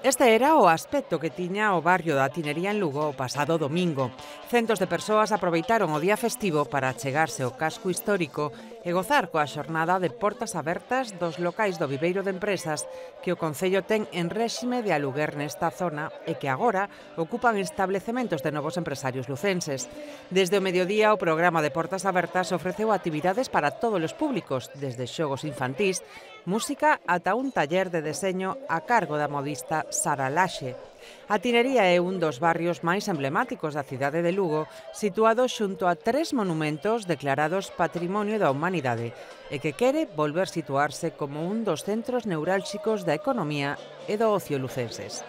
Este era o aspecto que tiña o barrio da Tinería en Lugo o pasado domingo. Centos de persoas aproveitaron o día festivo para achegarse ao casco histórico e gozar coa xornada de portas abertas dos locais do viveiro de empresas que o Concello ten en réxime de aluguer nesta zona e que agora ocupan establecementos de novos empresarios lucenses. Desde o mediodía, o programa de portas abertas ofreceu actividades para todos os públicos, desde xogos infantís, música ata un taller de deseño a cargo da modista Sara Laxe. A Tinería é un dos barrios máis emblemáticos da cidade de Lugo, situado xunto a 3 monumentos declarados Patrimonio da Humanidade e que quere volver situarse como un dos centros neurálxicos da economía e do ocio lucenses.